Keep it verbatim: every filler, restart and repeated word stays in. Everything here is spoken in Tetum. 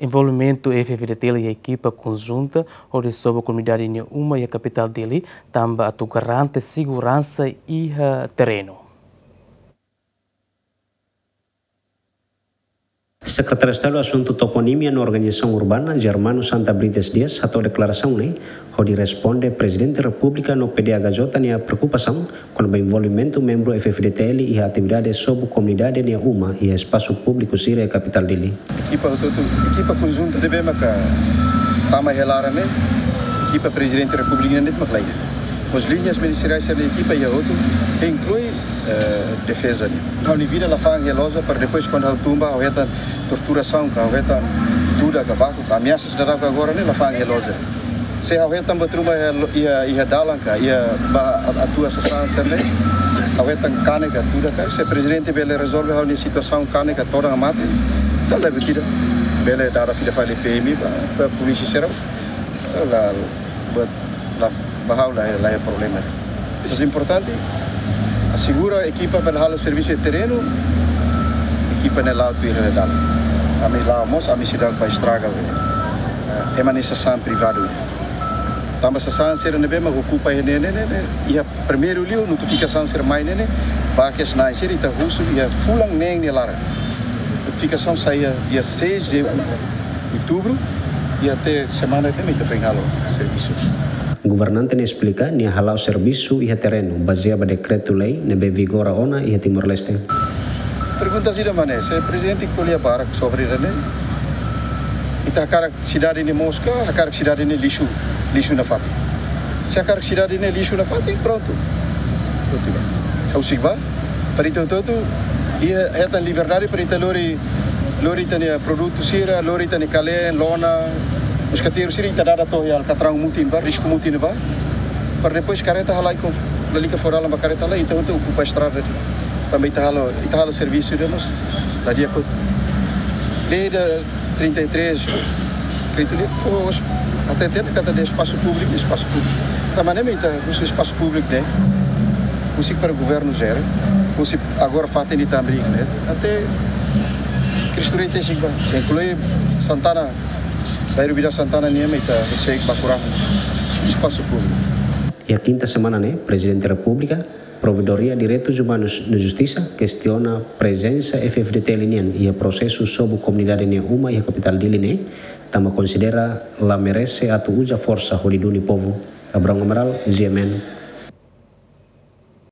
Envolvimentu F-FDTL iha ekipa konjunta hodi sobu komunidade nia uma iha kapitál Dili, tanba atu garante seguransa iha terrenu. Sekretáriu Estadu Asuntu Toponímia no Organizasaun Urbana, Germano Santa Brites Dias, hato'o deklarasaun ne'e hodi responde Prezidente Repúblika no PDHJ nia preokupasaun kona-ba envolvimentu membru F-FDTL iha atividade sobu komunidade nia uma iha espasu públiku sira iha kapitál Dili. Ekipa hotu-hotu, ekipa konjunta ne'ebé maka tama iha laran ne'e, ekipa Prezidente Repúblika ne'e mak la iha. Mós liñas ministeriais sira-nia ekipa iha hotu, inklui, eh, defeza ne'e. Ha'u-nia vida la fa'an iha loja para depois kuandu ha'u tun ba ha'u hetan torturasaun ka, ha'u hetan tuda ka, baku ka, ameasas daudauk agora ne'e la fa'an iha loja. Se ha'u hetan buat ruma iha, iha, iha dalan ka, iha ba a-, atua sasán sira-ne'e, ha'u hetan kane ka, tuda ka, se prezidente bele rezolve ha'u-nia situasaun kane ka, todan ka mate, entaun la buat ida. Bele dada fila fali P M ba, ba polísia sira, la, buat, la, ba ha'u la, la iha problema. Mas importante, asegura ekipa bele halo servisu iha terrenu, ekipa ne'e la'o tuir iha dalan. Ami la'o mós, ami seidauk ba estraga, eh, ema nia sasán privadu. Tanba sasán sira ne'ebé mak okupa iha ne'e, ne'e, ne'e, ne'e. Iha primeiru liu notifikasaun sira mai ne'e, ne'e. Ba kedas na'in sira ita husu iha fulan neen nia laran. Notifikasaun sai iha dia seis de outubro, i até semana ne'e mak ita foin halo servisu. Governante ne'e esplika, nia hala'o servisu iha terrenu, bazeia ba dekretu-lei ne'ebé vigora ona iha Timor-Leste. Pergunta ida mak ne'e, se prezidente ko'alia barak sobre ida-ne'e, ita hakarak sidade ne'e moos ka, hakarak sidade ne'e lixu, lixu nafatin. Se hakarak sidade ne'e lixu nafatin, prontu. Prontu, ba. Ha'u husik ba, para ita hotu-hotu iha, hetan liberdade para ita lori, lori ita-nia produtu sira, lori ita-nia kaleen, lona, mosketeru sira ita dada to'o iha alkatraun mutin ba, risku mutin ba. Para depois karreta halai konf-, lalika fó dalan ba karreta halai, ita hotu okupa estrada. Tanba ita halo, ita halo servisu ida mós la di'ak hotu. Lei da trinta e três, kréditu liu, fó es-, até ter kata de espasu públiku, espasu públiku. Tanba ne'e mak ita husu espasu públiku ne'e, husi para governu jere, husi agora fatin ita hamriik ne'e, até Cristo Rei te sigba, inklui Santana, bairru Bidau Santana nian mak ita husi ba kurang espasu públiku. Iha kinta semana ne'e, Prezidente Repúblika, Provedoria Direitus Umanus no Justisa kestiona prezensa F-FDTL nian iha prosesu sobu komunidade nia uma iha kapitál Dili ne'e, tanba konsidera la merese atu uza forsa hodi duni povu. Abrão Amaral, G M N,